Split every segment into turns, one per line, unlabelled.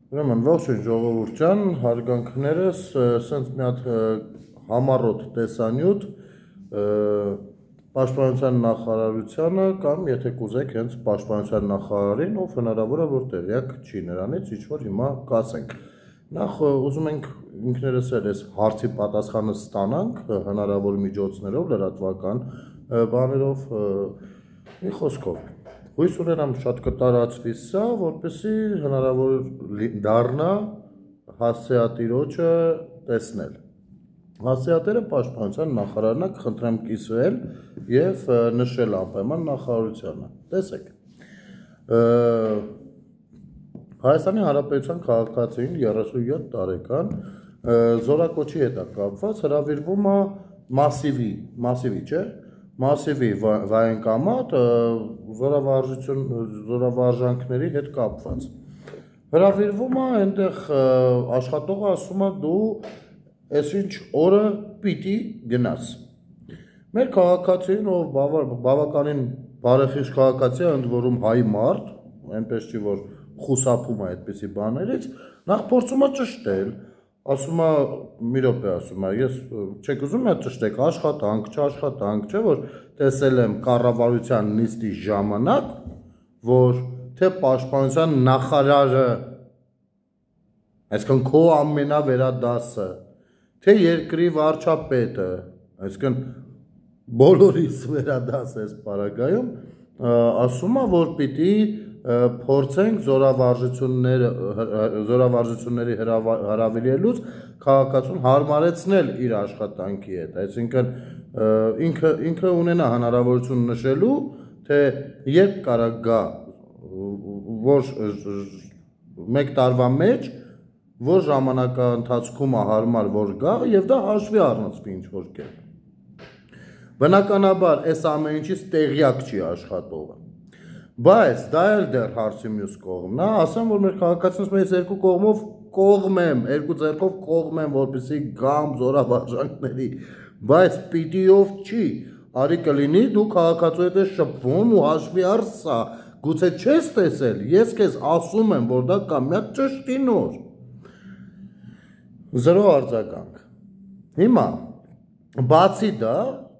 Ուրեմն ողջույն ժողովուրդ ջան, հարգանքներս, սենց մի հատ համառոտ տեսանյութ Պաշտպանության նախարարությանը կամ եթե կուզեք հենց Պաշտպանության նախարարին, ով հնարավոր է որ տեղյակ չի նրանից, ինչ որ հիմա կասենք։ Նախ ուզում ենք ինքներս էլ այս հարցի պատասխանը ստանանք հնարավոր միջոցներով, լրատվական բաներով, մի խոսքով։ Հույս ունենամ շատ կտարածվի սա, որպեսզի հնարավոր դառնա հասցեատիրոջը տեսնել։ Հասցեատերը Պաշտպանության նախարարն է, կխնդրեմ կիսվել եւ նշել անպայման նախարարությանը։ Տեսեք։ Հայաստանի Հանրապետության քաղաքացին 37 տարեկան զորակոչի հետ է կապված, հրավիրվում է մասիվի, չէ՞։ Մասիվի վայնկամատ զորավարժանքների հետ կապված։ Հրավիրվում է, այնտեղ աշխատողը ասում է դու այսինչ օրը պիտի գնաս։ Մեր քաղաքացին, ով բավականին բարեխիղճ քաղաքացի է, ընդ որում հայ մարդ, այնպես չի որ խուսափում է այդպիսի բաներից, նախ փորձում է ճշտել, ասում է մի րոպե, ասում է, ես չեք ուզում ճշտեք աշխատանք, չաշխատանք, չէ՞ որ տեսել եմ կառավարության նիստի ժամանակ, որ թե Պաշտպանության նախարարը, այսինքն քո ամենավերադասը, թե երկրի վարչապետը, այսինքն բոլորիս վերադաս էս պարագայում, ասում է, որ պիտի փորձենք զորավարժությունների հրավիրելուց քաղաքացուն հարմարեցնել իր աշխատանքի հետ, այսինքն ինքը ունենա հնարավորություն նշելու, թե երբ կարա գա, որ մեկ տարվա մեջ, որ ժամանակահատվածում է հարմար որ գա եւ դա հաշվի առնծվի ինչ որ կերպ։ Բնականաբար այս ամեն ինչից տեղյակ չի աշխատողը։ Բայց դա էլ դեռ հարցի մյուս կողմն է, ասեմ որ մեր քաղաքացիներից մեծ երկու կողմով կողմեմ, երկու ձեռքով կողմեմ, որպեսզի գամ զորավարժանքների, բայց պիտիով չի, արի կլինի դու քաղաքացու հետ ես շփվում ու հաշվի առ սա, գուցե չես տեսել, ես քեզ ասում եմ, որ դա կամ մի հատ ճշտի նոր։ Զրո արձագանք։ Հիմա բացի դա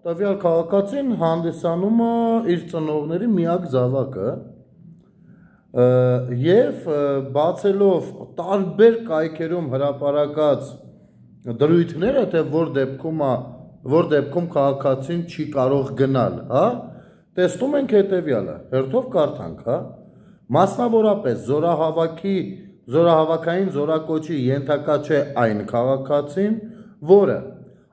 տվյալ քաղաքացին հանդիսանում է իր ծնողների միակ զավակը եւ բացելով տարբեր կայքերում հրապարակած դրույթները, թե որ դեպքում քաղաքացին չի կարող գնալ, հա, տեսնում ենք հետեւյալը, հերթով կարդանք, հա, մասնավորապես զորահավաքային զորակոչի ենթակա չէ այն քաղաքացին, որը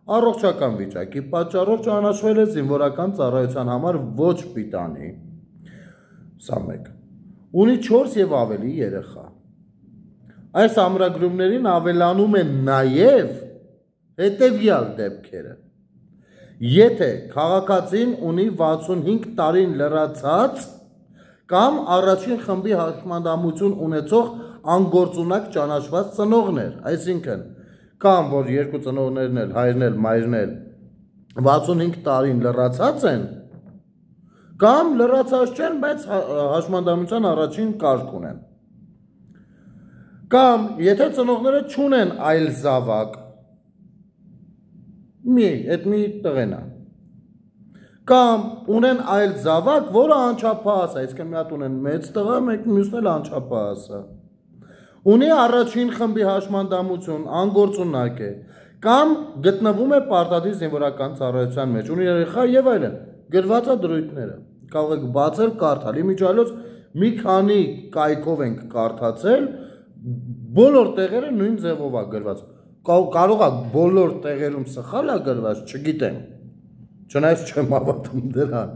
առողջական վիճակի պատճառով ճանաչվել է զինվորական ծառայության համար ոչ պիտանի, սա մեկ, ունի 4 եւ ավելի երեխա։ Այս ամրագրումներին ավելանում են նաեւ հետեւյալ դեպքերը. եթե քաղաքացին ունի 65 տարին լրացած կամ առաջին խմբի հաշմանդամություն ունեցող անգործունակ ճանաչված ծնողներ, այսինքն կամ որ երկու ծնողներն էլ, հայրն էլ, մայրն էլ 65 տարին լրացած են, կամ լրացած չեն, բայց հաշմանդամության առաջին կարգ ունեն։ Կամ եթե ծնողները չունեն այլ զավակ, այդ մի տղեն է։ Կամ ունեն այլ զավակ, որը անչափահաս է, այսինքն մի հատ ունեն մեծ տղա, մյուսն էլ անչափահաս է։ Ունի առաջին խմբի հաշմանդամություն, անգործունակ է, կամ գտնվում է պարտադիր զինվորական ծառայության մեջ, ունի երեխա եւ այլն, գրված է դրույթները։ Կարող եք բացել, կարդալ, իմիջիայլոց մի քանի կայքով ենք կարդացել, բոլոր տեղերը նույն ձևով է գրված։ Կարող է բոլոր տեղերում սխալ է գրված, չգիտեմ։ Չնայած չեմ հավատում դրան,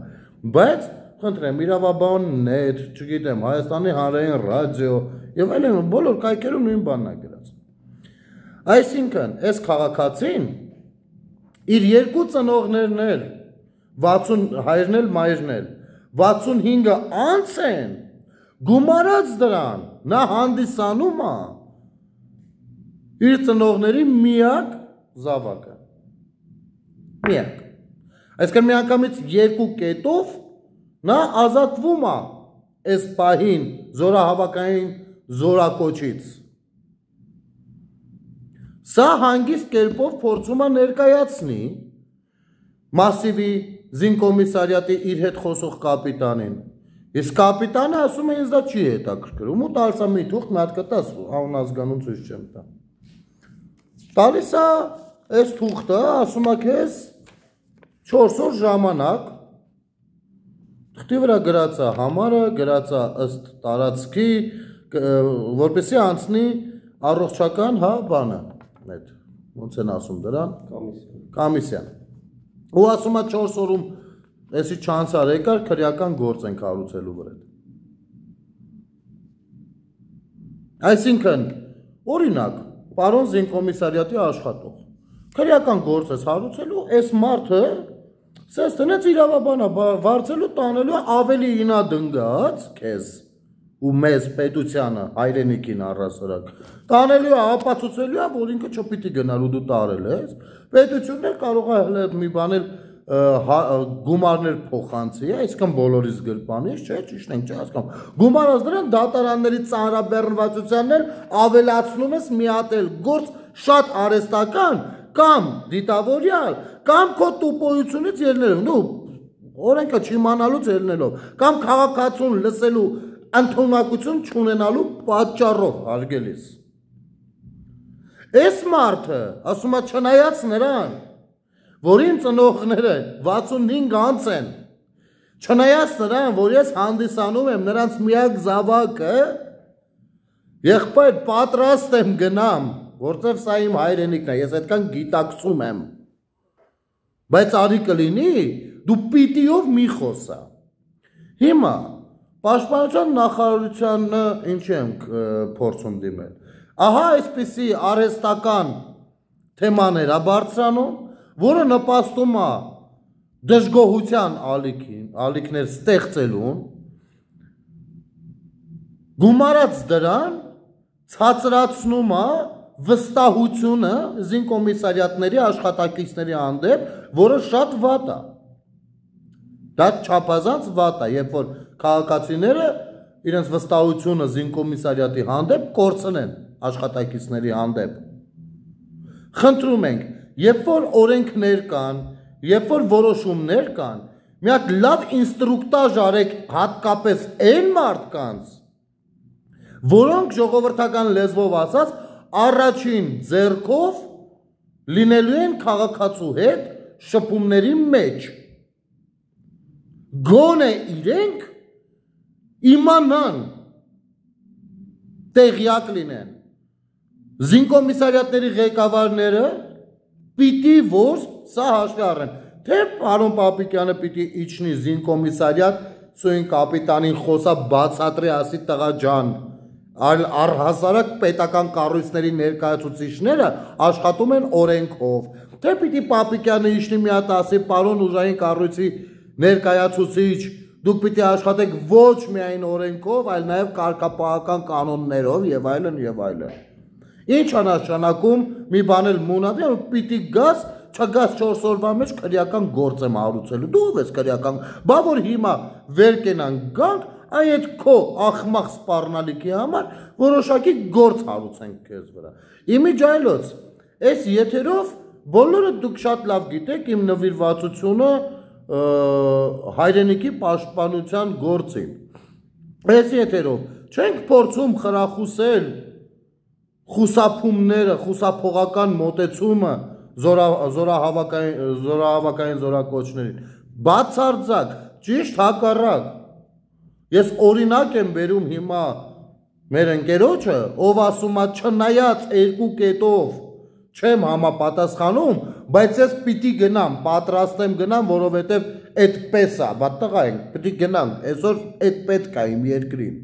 բայց խնդրեմ, իրավաբան.net, չգիտեմ, Հայաստանի հանրային ռադիո եւ այլն բոլոր կայքերում նույն բանն է գրած։ Այսինքն, այս քաղաքացին իր երկու ծնողներն էլ 60 հայրն էլ մայրն էլ 65-ը անց են, գումարած դրան, նա հանդիսանում է իր ծնողների միակ զավակը։ Միակ։ Այսինքն միանգամից երկու կետով նա ազատվում է այս պահին զորահավաքային զորակոչից Սա հանգիստ կերպով փորձում է ներկայացնի Մասիվի զինկոմիսարիատի իր հետ խոսող կապիտանին։ Իսկ կապիտանը ասում է ինձ դա չի հետաքրքրում ու տալիս է մի թուղթ, մի հատ կտաս անազգանուն ցույց չեմ տա։ Տալիս է այս թուղթը, ասում է քեզ 4 օր ժամանակ թղթի վրա գրած է համարը, գրած է ըստ տարածքի, որպեսզի անցնի առողջական բանը, այդ ոնց են ասում դրան, կոմիսիան։ Ու ասում է 4 օրում էսի չանցար եկար քրեական գործ ենք հարուցելու վրա։ Այսինքն, օրինակ, պարոն զինկոմիսարիատի աշխատող, քրեական գործ ես հարուցելու, այս մարդը սես տնեց իրավաբանա վարձելու տանելու ավելի ինա դնգած քեզ ու մեզ պետությանը հայրենիքին առասարակ տանելու է ապացուցելու է որ ինքը չպիտի գնալու դու տարել ես պետությունն էլ կարող է մի բանել գումարներ փոխանցի այսքան բոլորից գրպանից չէ ճիշտ ենք չէ հասկանում գումարած դրան դատարանների ծանրաբեռնվածությանն էլ ավելացնում ես մի հատ էլ գործ շատ արհեստական կամ դիտավորյալ կամ քո տուպոյությունից ելնելով նո օրենքը չիմանալուց ելնելով կամ քաղաքացուն լսելու ընդունակություն չունենալու պատճառով հարգելիս այս մարդը ասում է չնայած նրան որին ծնողները 65 անց են չնայած նրան որ ես հանդիսանում եմ նրանց միակ զավակը եղբայր պատրաստ եմ գնամ որտեվ սա իմ հայրենիքն է ես այդքան գիտակցում եմ բայց արի կլինի դու պիտիով մի խոսա հիմա պաշտպանության նախարարությանը ինչ ենք փորձում դիմել ահա այսպիսի արհեստական թեմաներ է բարձրանում որը նպաստում է դժգոհության ալիքներ ստեղծելուն գումարած դրան ցածրացնում է վստահությունը զինկոմիսարիատների աշխատակիցների հանդեպ, որը շատ վատ է։ Դա չափազանց վատ է, երբ որ քաղաքացիները իրենց վստահությունը զինկոմիսարիատի հանդեպ կորցնեն աշխատակիցների հանդեպ։ Խնդրում ենք, երբ որ օրենքներ կան, երբ որ որոշումներ կան, մի հատ լավ ինստրուկտաժ արեք հատկապես այն մարդկանց, որոնք ժողովրդական լեզվով ասած առաջին ձեռքով լինելու են քաղաքացու հետ շփումների մեջ գոնե իրենք իմանան տեղյակ լինեն զինկոմիսարիատների ղեկավարները պիտի որ սա հաշվի առնեն թե պարոն Պապիկյանը պիտի իջնի զինկոմիսարիատ սույն կապիտանին խոսա բացատրի ասի տղա ջան առհասարակ պետական կառույցների ներկայացուցիչները աշխատում են օրենքով թե պիտի Պապիկյանը իջնի մի հատ ասի պարոն ուժային կառույցի ներկայացուցիչ դուք պիտի աշխատեք ոչ միայն օրենքով այլ նաև կարգապահական կանոններով եւ այլն եւ այլն ինչ է նշանակում մի բան էլ մունադի պիտի գաս չգաս 4 օրվա մեջ քրեական գործ եմ հարուցելու դու ով ես քրեական բա որ հիմա վեր կենան գանք այդ քո ախմախ սպառնալիքի համար որոշակի գործ հարուցենք քեզ վրա իմիջայլոց այս եթերով բոլորը դուք շատ լավ գիտեք իմ նվիրվածությունը հայրենիքի պաշտպանության գործին այս եթերով չենք փորձում խրախուսել խուսափումները խուսափողական մոտեցումը զորահավաքային զորակոչներին բացարձակ ճիշտ հակառակ ես օրինակ եմ բերում հիմա մեր ընկերոջը ով ասում է չնայած երկու կետով չեմ համապատասխանում բայց ես պիտի գնամ պատրաստ եմ գնամ որովհետև այդպես է բա տղա ենք պիտի գնանք այսօր այդ պետք է իմ երկրին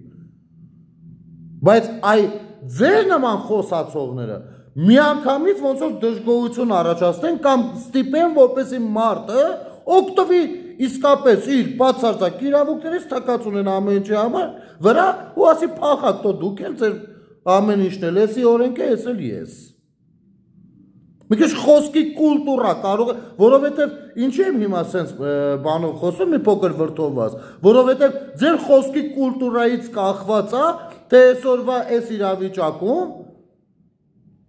բայց այ ձեր նման խոսացողները միանգամից ոնց որ դժգոհություն առաջացնեն կամ ստիպեն որպեսզի մարդը օգտվի իսկապես իր բացարձակ իրավունքներից թակած ունեն ամեն ինչի համար վրա ու ասի փախակ տո դուք էլ ձեր ամեն ինչն էլ էսի օրենքը ես էլ ես մի քիչ խոսքի կուլտուրա կարող է որովհետև ինչի եմ հիմա սենց բանով խոսում մի փոքր վրդովված որովհետև ձեր խոսքի կուլտուրայից կախված է թե այսօրվա այս իրավիճակում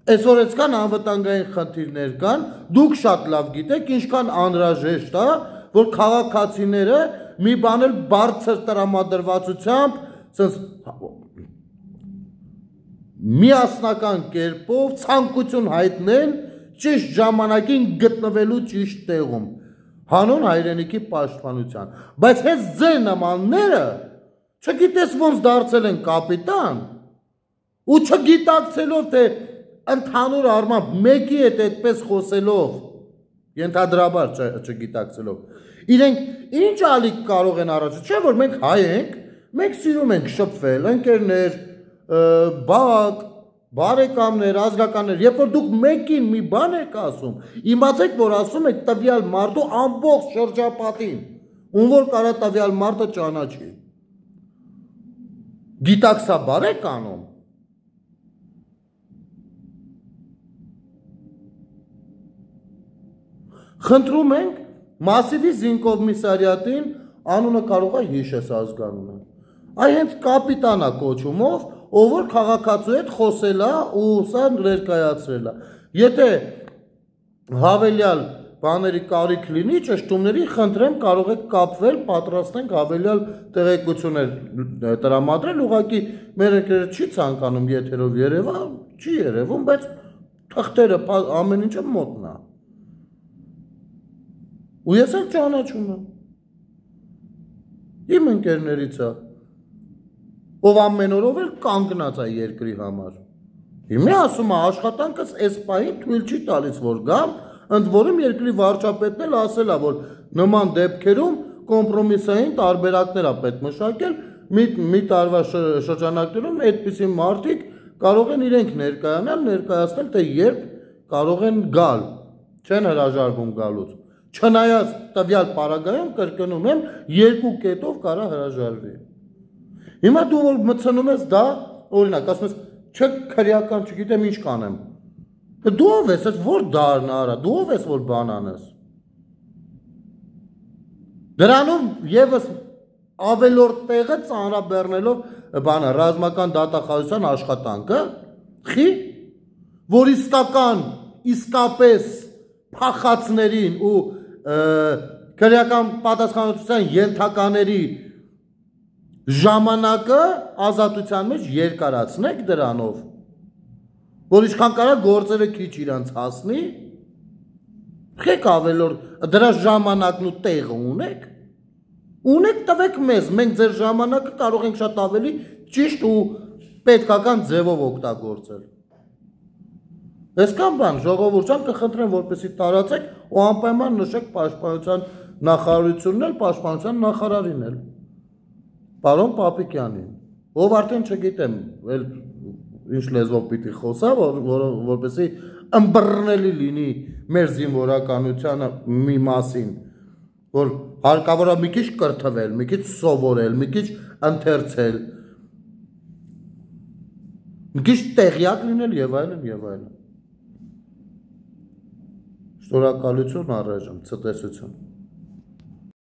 Այսօր այսքան անվտանգային խնդիրներ կան, դուք շատ լավ գիտեք, ինչքան անհրաժեշտ է, որ քաղաքացիները մի բան էլ բարձր տրամադրվածությամբ, ասես միասնական կերպով ցանկություն հայտնեն ճիշտ ժամանակին գտնվելու ճիշտ տեղում, հանուն հայրենիքի պաշտպանության, բայց հենց ձեր նմանները չգիտես ոնց դարձել են կապիտան ու չգիտակցելով թե ընդհանուր առմամբ մեկի հետ այդպես խոսելով, ենթադրաբար չգիտակցելով, իրենք ինչ ալիք կարող են առաջ, չէ՞ որ մենք հայ ենք, մենք սիրում ենք շփվել, ընկերներ, բակ, բարեկամներ, ազգականներ, երբ որ դուք մեկին մի բան եք ասում, իմացեք, որ ասում եք տվյալ մարդու ամբողջ շրջապատին, ում որ կարա տվյալ մարդը ճանաչի։ Գիտակցաբար եք անում։ Խնդրում ենք Մասիվի զինկոմիսարիատին անունը կարող է հիշես ազգանունը։ Այ հենց կապիտանա կոչումով, ով որ քաղաքացու հետ խոսել է ու սա ներկայացրել է։ Եթե հավելյալ բաների կարիք լինի, ճշտումների խնդրեմ կարող եք կապվել, պատրաստենք հավելյալ տեղեկություններ տրամադրել, ուղղակի մեր ընկերը չի ցանկանում եթերով երևա, չի երևում, բայց թղթերը ամեն ինչը մոտնա։ Ու ես էլ ճանաչում եմ։ Իմ ընկերներից է, ով ամեն օրով էլ կանգնած է երկրի համար։ Հիմա ասում է աշխատանքս այս պահին թույլ չի տալիս, որ գամ, ընդ որում երկրի վարչապետն էլ ասել է, որ նման դեպքերում կոմպրոմիսային տարբերակներ է պետք մշակել, մի տարվա շրջանակներում այդպիսի մարդիկ կարող են իրենք ներկայացնել, թե երբ կարող են գալ, չեն հրաժարվում գալուց։ Չնայած տվյալ պարագայում կրկնում եմ, երկու կետով կարա հրաժարվի։ Հիմա դու որ մտցնում ես դա, օրինակ, ասում ես, չէ քրեական, չգիտեմ ինչ կանեմ։ Դու ով ես, այս որ դարն արա, դու ով ես որ բան անես։ Դրանում եւս ավելորդ տեղը ծանրաբեռնելով բանը ռազմական դատախազության աշխատանքը, խի, որ իսկապես փախածներին ու քրեական պատասխանատվության ենթակաների ժամանակը ազատության մեջ երկարացնեք դրանով, որ ինչքան կարա գործերը քիչ իրանց հասնի, խեք ավելորդ դրա ժամանակն ու տեղը ունեք տվեք մեզ, մենք ձեր ժամանակը կարող ենք շատ ավելի ճիշտ ու պետքական ձևով օգտագործել։ Այսքան բան ժողովուրդյան կխնդրեմ, որպեսզի տարածեք ու անպայման նշեք պաշտպանության նախարարությունն էլ, պաշտպանության նախարարին էլ, պարոն Պապիկյանին, ով արդեն չգիտեմ, ինչ լեզվով պիտի խոսա, որպեսզի ըմբռնելի լինի մեր զինվորականությանը մի մասին, որ հարկավոր է մի քիչ կրթվել, մի քիչ սովորել, մի քիչ ընթերցել, մի քիչ տեղյակ լինել եւ այլն։ Շնորհակալություն առայժմ, ցտեսություն։